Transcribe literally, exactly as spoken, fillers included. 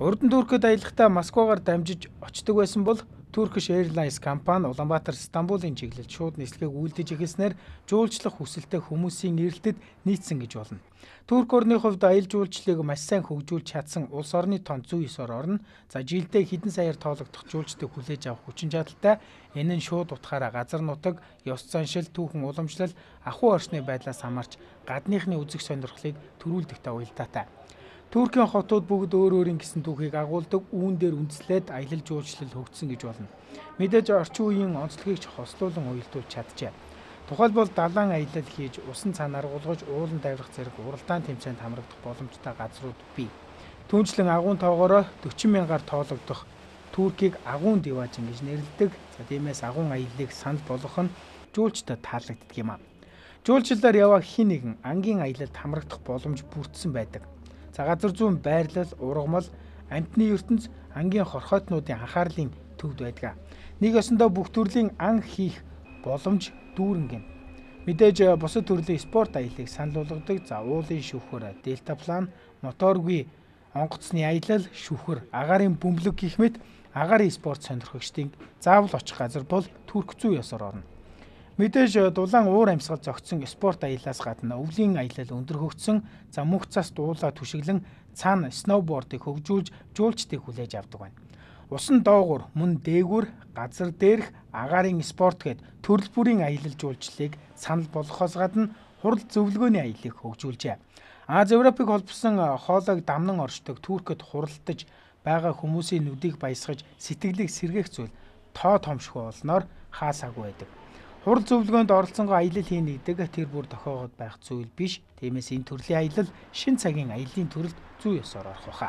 Урд нь Туркид аялахдаа Москвагаар дамжиж очдог байсан бол Turkish Airlines компани Улаанбаатар Стамбулын чиглэлд шууд нислэгийг үйлдэж эхэлснээр жуулчлах хүсэлтэй хүмүүсийн эрэлтэд нийцсэн гэж болно. Турк орны хувьд аялал жуулчлалыг маш сайн хөгжүүлж чадсан улс орны тоонд зүй ёсоор орно. За жилдээ хэдэн саяар тоологдох жуулчдыг хүлээж авах хүчин чадалтай. Энэ нь шууд утгаараа газар нутаг, ёс заншил, түүхэн уламжлал, ахуй орчны байдлаас хамаарч гадныхны үзэг сонирхлыг төрүүлдэгтэй уялдаатай. Туркийн хотууд бүгд өөр өөрийн гэсэн түүхийг агуулдаг, үүн дээр үндэслээд аялал жуулчлал хөгжсөн гэж болно. Мэдээж орчин үеийн онцлогийг ч хослуулан уялдуулж чаджээ. Тухайлбал далайн аялал хийж, усан цанаар гулгаж, уулан даврах зэрэг уралдаан тэмцээнд хамрагдах боломжтой газрууд бий. Түүнчлэн агуун тоогоороо дөрвөн мянгаар тоологдох Туркийг агуун диважин гэж нэрлэдэг. За тиймээс агуун аяллыг санал болгох нь жуулчдад таалагддаг юм а. Жуулчлалаар яваа хэн нэгэн ангийн аялалд хамрагдах боломж бүрдсэн байдаг. За газар зүүн байрлал, ургамал, амьтны ертөнц ангийн хорхойтнуудын анхаарлын төвд байдаг. Нэг ёсондоо бүх төрлийн ан хийх боломж дүүрэн гин. Мэдээж бусад төрлийн спорт аяллыг санал болгодог. За уулын шүүхөр, дельтаплан, моторгүй онгоцны аялал, шүүхөр, агаарын бөмбөлөг гэх мэт агаарын спорт сонирхогчдын заавал очих газар бол Турк зүй ёсоор орно. Мэдээж дулаан уур амьсгал зогтсон спорт аяллаас гадна өвлийн аялал өндөр хөгжсөн, за мөнх цас дуулаа түшиглэн цаана сноубордыг хөгжүүлж жуулчдыг хүлээж авдаг байна. Усан доогуур, мөн дээгүүр, газар дээрх агаарын спорт гээд төрөл бүрийн аялал жуулчлалыг санал болгохоос гадна хурал зөвлөгөөний аяллыг хөгжүүлжээ. Аз Европыг холбосон хоолойг дамнан оршдог Туркид хуралдаж байгаа хүмүүсийн нүдийг баясгаж сэтгэлийг сэргээх зүйл тоо томшгүй болноор хаасаагүй байдаг. Хурал зөвлөгөөнд оролцсонгоо аялал хийнэ гэдэг тэр бүр тохиогод байх зүйл биш. Тиймээс энэ төрлийн аялал шин цагийн аяллаа төрөлд зүй ёсоор орох баха.